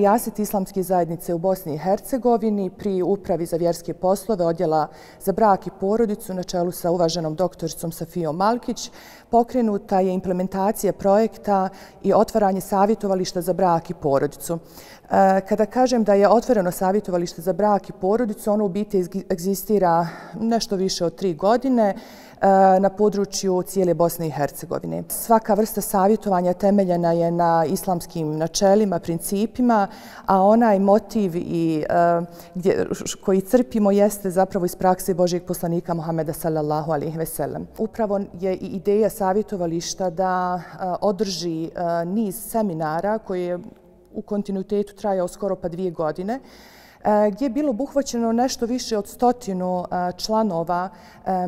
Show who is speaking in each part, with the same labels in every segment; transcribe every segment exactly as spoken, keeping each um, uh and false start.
Speaker 1: rijaset islamske zajednice u Bosni i Hercegovini pri Upravi za vjerske poslove Odjela za brak i porodicu na čelu sa uvaženom doktoricom Safijom Malkić pokrenuta je implementacija projekta i otvaranje savjetovališta za brak i porodicu. Kada kažem da je otvoreno savjetovalište za brak i porodicu, ono u biti egzistira nešto više od tri godine na području cijele Bosne i Hercegovine. Svaka vrsta savjetovanja temeljena je na islamskim načelima, principima, a onaj motiv i, gdje, koji crpimo jeste zapravo iz prakse Božijeg poslanika Muhameda sallallahu alejhi ve sellem. Upravo je i ideja savjetovališta da održi niz seminara koje je u kontinuitetu trajao skoro pa dvije godine, gdje je bilo obuhvaćeno nešto više od stotinu članova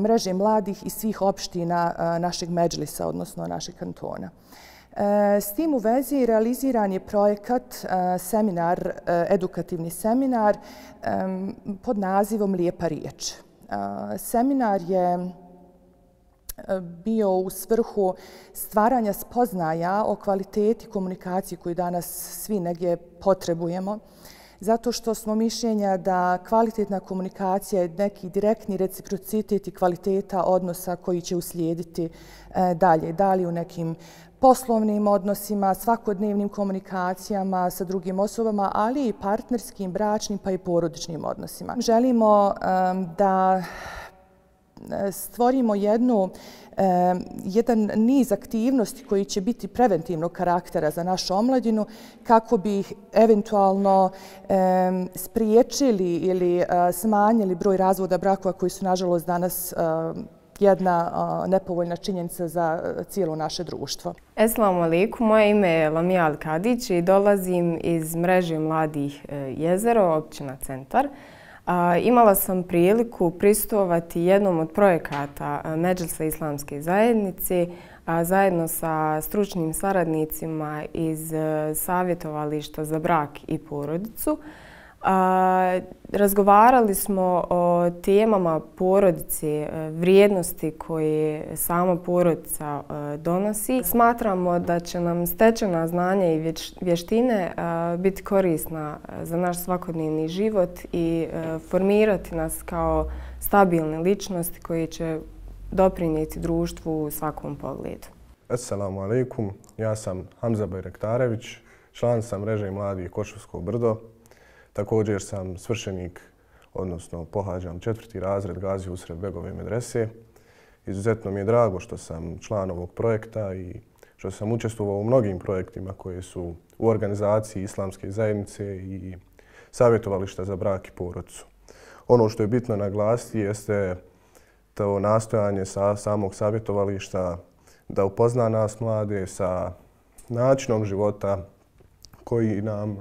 Speaker 1: mreže mladih iz svih opština našeg medžlisa, odnosno našeg kantona. S tim u vezi realiziran je projekat, seminar, edukativni seminar pod nazivom Lijepa riječ. Seminar je bio u svrhu stvaranja spoznaja o kvaliteti komunikacije koju danas svi negdje potrebujemo, zato što smo mišljenja da kvalitetna komunikacija je neki direktni reciprocitet i kvaliteta odnosa koji će uslijediti dalje. Dalje u nekim poslovnim odnosima, svakodnevnim komunikacijama sa drugim osobama, ali i partnerskim, bračnim pa i porodičnim odnosima. Želimo da stvorimo jednu, jedan niz aktivnosti koji će biti preventivnog karaktera za našu omladinu kako bi ih eventualno spriječili ili smanjili broj razvoda brakova koji su nažalost danas jedna nepovoljna činjenica za cijelo naše društvo.
Speaker 2: Esselamu alaikum, moje ime je Lamija Al-Kadić i dolazim iz mreže mladih Jezero, općina Centar. Imala sam priliku prisustvovati jednom od projekata Medžlisa islamske zajednice zajedno sa stručnim saradnicima iz savjetovališta za brak i porodicu. Razgovarali smo o temama porodice, vrijednosti koje sama porodica donosi. Smatramo da će nam stečena znanja i vještine biti korisna za naš svakodnevni život i formirati nas kao stabilne ličnosti koje će doprinijeti društvu u svakom pogledu.
Speaker 3: Assalamu alaikum, ja sam Hamza Bajraktarević, član sam mreže mladih Košovsko Brdo. Također sam svršenik, odnosno pohađam četvrti razred Gazi Usred Begove medrese. Izuzetno mi je drago što sam član ovog projekta i što sam učestvovao u mnogim projektima koji su u organizaciji islamske zajednice i savjetovališta za brak i porodicu. Ono što je bitno naglasiti jeste to nastojanje sa samog savjetovališta da upozna nas mlade sa načinom života koji nam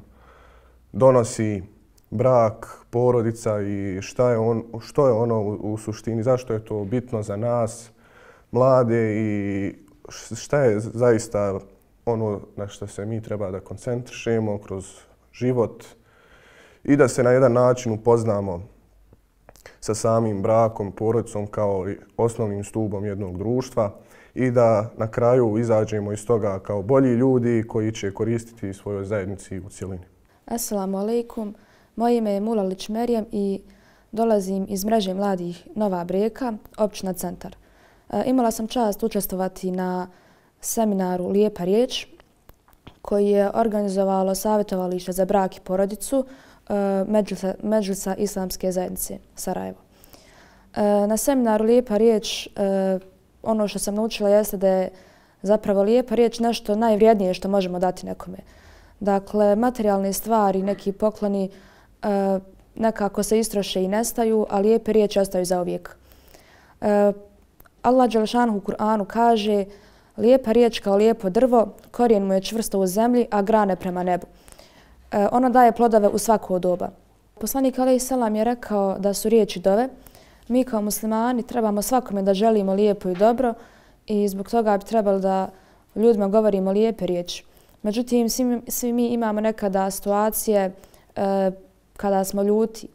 Speaker 3: donosi brak, porodica i šta je on, što je ono u, u suštini, zašto je to bitno za nas, mlade i šta je zaista ono na što se mi treba da koncentrišemo kroz život i da se na jedan način upoznamo sa samim brakom, porodicom kao osnovnim stubom jednog društva i da na kraju izađemo iz toga kao bolji ljudi koji će koristiti svojoj zajednici u cjelini.
Speaker 4: Assalamu alaikum, moje ime je Mulalić Merijem i dolazim iz mreže mladih Nova Breka, općina Centar. E, imala sam čast učestvovati na seminaru Lijepa riječ koji je organizovalo savjetovalište za brak i porodicu e, Medžlisa, Medžlisa islamske zajednice Sarajevo. E, na seminaru Lijepa riječ e, ono što sam naučila jeste da je zapravo lijepa riječ nešto najvrijednije što možemo dati nekome. Dakle, materijalne stvari, neki pokloni e, nekako se istroše i nestaju, a lijepe riječi ostaju zauvijek. E, Allah dželešanuhu u Kur'anu kaže: lijepa riječ kao lijepo drvo, korijen mu je čvrsto u zemlji, a grane prema nebu. E, ona daje plodove u svako doba. Poslanik alejhi selam je rekao da su riječi dove. Mi kao muslimani trebamo svakome da želimo lijepo i dobro i zbog toga bi trebalo da ljudima govorimo lijepe riječi. Međutim, svi, svi mi imamo nekada situacije e, kada smo ljuti.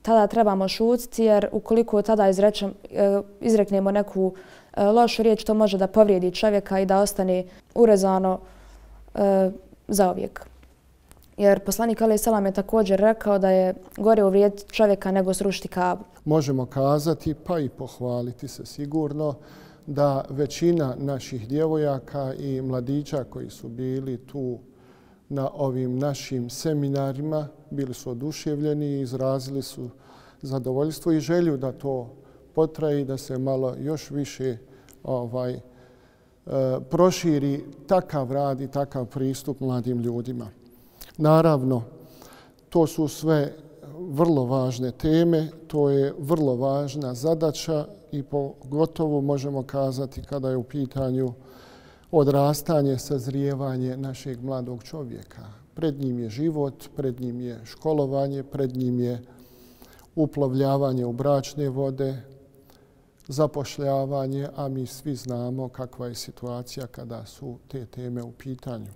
Speaker 4: Tada trebamo šutiti jer ukoliko tada izrečem, e, izreknemo neku e, lošu riječ, to može da povrijedi čovjeka i da ostane urezano e, zauvijek. Jer poslanik alejhi selam je također rekao da je gore uvrijediti čovjeka nego srušiti Kabu.
Speaker 5: Možemo kazati, pa i pohvaliti se sigurno, da većina naših djevojaka i mladića koji su bili tu na ovim našim seminarima bili su oduševljeni i izrazili su zadovoljstvo i želju da to potraje i da se malo još više ovaj, e, proširi takav rad i takav pristup mladim ljudima. Naravno, to su sve vrlo važne teme, to je vrlo važna zadaća i pogotovo možemo kazati kada je u pitanju odrastanje, sazrijevanje našeg mladog čovjeka. Pred njim je život, pred njim je školovanje, pred njim je uplovljavanje u bračne vode, zapošljavanje, a mi svi znamo kakva je situacija kada su te teme u pitanju.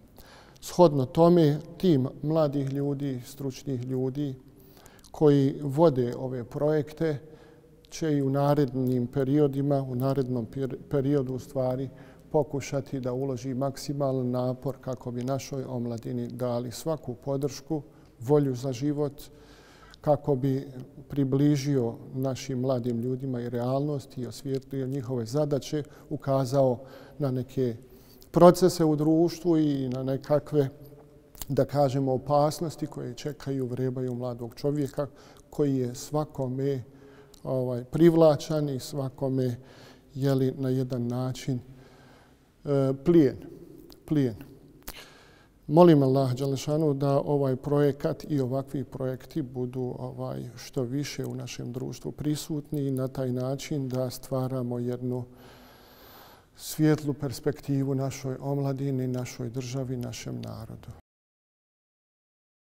Speaker 5: Shodno tome, tim mladih ljudi, stručnih ljudi koji vode ove projekte će i u narednim periodima, u narednom periodu u stvari pokušati da uloži maksimalan napor kako bi našoj omladini dali svaku podršku, volju za život, kako bi približio našim mladim ljudima i realnost i osvijetlio njihove zadaće, ukazao na neke procese u društvu i na nekakve, da kažemo, opasnosti koje čekaju, vrebaju mladog čovjeka koji je svakome ovaj, privlačan i svakome jeli, na jedan način e, plijen. plijen. Molim Allah dželešanu da ovaj projekat i ovakvi projekti budu ovaj, što više u našem društvu prisutni i na taj način da stvaramo jednu svijetlu perspektivu našoj omladini, našoj državi, našem narodu.